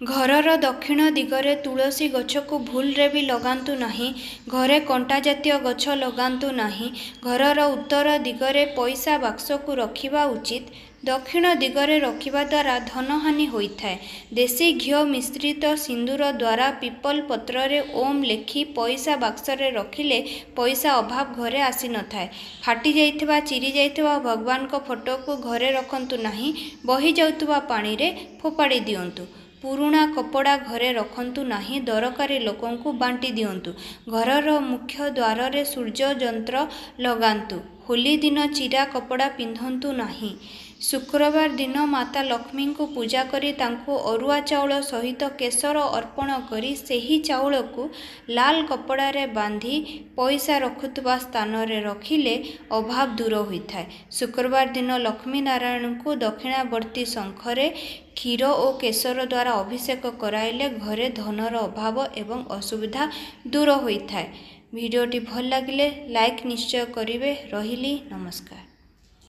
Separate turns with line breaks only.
ଘରର ଦକ୍ଷିଣ ଦିଗରେ ତୁଳସୀ ଗଛକୁ ଭୁଲରେ ବି ଲଗାନ୍ତୁ ନାହିଁ। ଘରେ କଣ୍ଟା ଜାତୀୟ ଗଛ ଲଗାନ୍ତୁ ନାହିଁ। ଘରର ଉତ୍ତର ଦିଗରେ ପଇସା ବାକ୍ସକୁ ରଖିବା ଉଚିତ। ଦକ୍ଷିଣ ଦିଗରେ ରଖିବା ଦ୍ୱାରା ଧନହାନି ହୋଇଥାଏ। ଦେଶୀ ଘିଅ ମିଶ୍ରିତ ସିନ୍ଦୁର ଦ୍ୱାରା ପିପଲ ପତ୍ରରେ ଓମ୍ ଲେଖି ପଇସା ବାକ୍ସରେ ରଖିଲେ ପଇସା ଅଭାବ ଘରେ ଆସିନଥାଏ। ଫାଟି ଯାଇଥିବା, ଚିରି ଯାଇଥିବା ଭଗବାନଙ୍କ ଫଟୋକୁ ଘରେ ରଖନ୍ତୁ ନାହିଁ, ବହି ଯାଉଥିବା ପାଣିରେ ଫୋପାଡ଼ି ଦିଅନ୍ତୁ। ପୁରୁଣା କପଡ଼ା ଘରେ ରଖନ୍ତୁ ନାହିଁ, ଦରକାରୀ ଲୋକଙ୍କୁ ବାଣ୍ଟି ଦିଅନ୍ତୁ। ଘରର ମୁଖ୍ୟ ଦ୍ୱାରରେ ସୂର୍ଯ୍ୟ ଯନ୍ତ୍ର ଲଗାନ୍ତୁ। ହୋଲି ଦିନ ଚିରା କପଡ଼ା ପିନ୍ଧନ୍ତୁ ନାହିଁ। ଶୁକ୍ରବାର ଦିନ ମାତା ଲକ୍ଷ୍ମୀଙ୍କୁ ପୂଜା କରି ତାଙ୍କୁ ଅରୁଆ ଚାଉଳ ସହିତ କେଶର ଅର୍ପଣ କରି ସେହି ଚାଉଳକୁ ଲାଲ କପଡ଼ାରେ ବାନ୍ଧି ପଇସା ରଖୁଥିବା ସ୍ଥାନରେ ରଖିଲେ ଅଭାବ ଦୂର ହୋଇଥାଏ। ଶୁକ୍ରବାର ଦିନ ଲକ୍ଷ୍ମୀ ନାରାୟଣଙ୍କୁ ଦକ୍ଷିଣାବର୍ତ୍ତୀ ଶଙ୍ଖରେ କ୍ଷୀର ଓ କେଶର ଦ୍ୱାରା ଅଭିଷେକ କରାଇଲେ ଘରେ ଧନର ଅଭାବ ଏବଂ ଅସୁବିଧା ଦୂର ହୋଇଥାଏ। ଭିଡ଼ିଓଟି ଭଲ ଲାଗିଲେ ଲାଇକ୍ ନିଶ୍ଚୟ କରିବେ। ରହିଲି, ନମସ୍କାର।